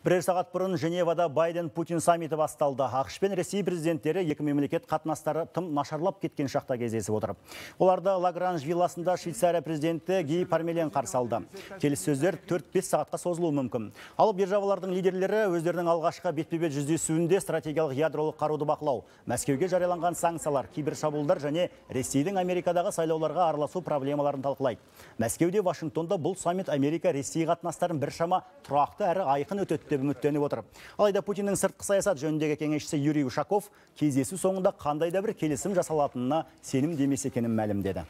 Бірер сағат бұрын Женевада Байден-Путин саммиті басталды. ақш пен Ресей президенттері екі мемлекет қатынастары тым нашарлап кеткен шақта кездесіп отыр. Оларды Лагранж вилласында Швейцария президенті Ги Пармелен қарсы алды. Келіссөздер 4-5 сағатқа созылуы мүмкін. Ал державалардың лидерлері өздерінің алғашқы бетпе-бет жүздесуінде стратегиялық ядролық қаруды бақылау, Мәскеуге жарияланған санкциялар, кибершабуылдар және Ресейдің Америкадағы сайлауларға араласу проблемаларын талқылайды. Мәскеуде Вашингтонда бұл саммит Америка-Ресей қатынастарын біршама тұрақты әрі айқын өтеді деп үміттеніп отыр. Алайда Путиннің сыртқы саясат жөніндегі кеңесшісі Юрий Ушаков кездесу соңында қандай да бір келісім жасалатынына сенім демес екенін мәлімдеді.